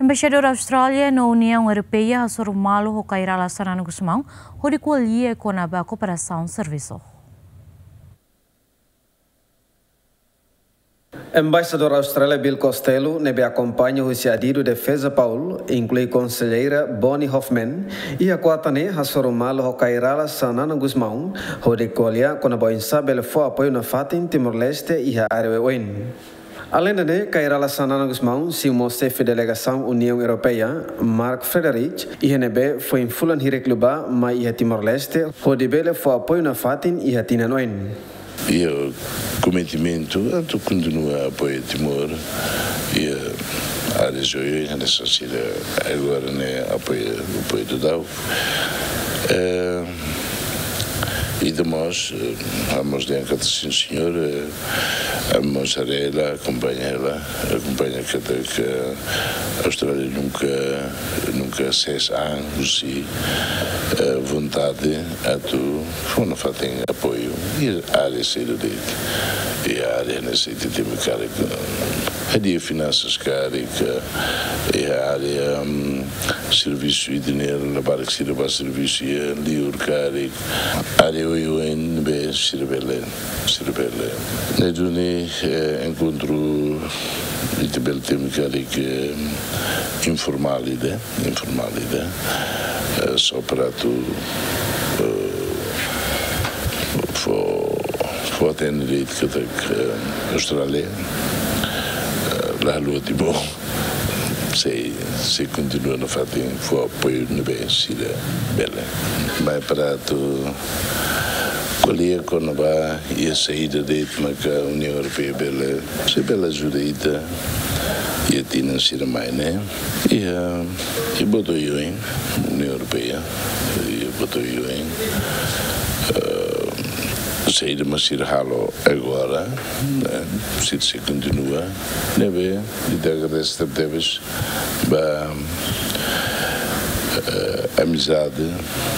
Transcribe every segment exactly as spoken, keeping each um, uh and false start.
Embaixadór Austrália no Uniaun Europeia hasoru malu ho Kay Rala Xanana Gusmão hodi ko'alia kona-ba kooperasaun servisu. Embaixadór Austrália Bill Costello, ne'ebé akompaña husi adidu defeza Paul, inklui konselleira Bonnie Hoffman, iha kuarta ne'e hasoru malu ho Kay Rala Xanana Gusmão hodi ko'alia kona-ba oinsá bele fó apoiu nafatin Timor-Leste iha área oioin. Aleinde ne'e, Kay Rala Xanana Gusmão simu mós xefe delegasaun Uniaun Europeia, Mark Frederich, iha ne'ebé foin fulan hirak liubá mai iha Timor-Leste hodi bele fó apoiu nafatin iha tinan oin. Iha kometimentu atu kontinua apoia Timor iha área oioin, hanesan sira agora ne'e apoia, apoia daudaun. Eh, ida mós, eh, ha'u mós dehan katak sin señór, eh, ha'u mós haree hela, akompaña hela, akompaña katak Austrália nunka, nunka sees an husi, eh, vontade atu fó nafatin apoiu iha área sira de'it. Iha área ne'e sira temi karik, eh, hadi'a finansas karik, iha área, mm, servisu ida-ne'e, labarik sira bá servisu iha liur karik, área oioin ne'ebé sira bele, sira bele. Ne'e duni, eh, enkontru ita bele temi karik, eh, informál ida, informál ida. Eh, só para atu, eh, fó, fó hatene de'it katak, eh, Austrália, eh, la haluha Timor. Sei, sei kontinua nafatin fó apoiu ne'ebé sira bele. Mai para atu ko'alia kona-ba iha saida de'it maka Uniaun Europeia bele, sei bele ajuda ita iha tinan sira mai ne'e. Iha, iha buat oioin, Uniaun Europeia, iha buat oioin. Eh, saida mak sira halo agora, ne'e, sira sei kontinua, ne'ebé, ita agradese tebetebes ba, eh, amizade,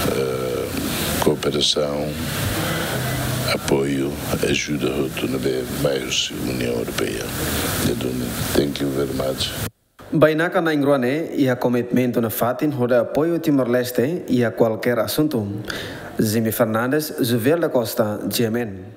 eh, kooperasaun, apoiu, ajuda hotu ne'ebé mai husi Uniaun Europeia. Ne'e duni, thank you very much. Bainaka na'in-rua ne'e iha komitmentu nafatin hodi apoiu Timor-Leste iha kualkér asuntu. Jimmy Fernandes, Juvel da Costa, G M N.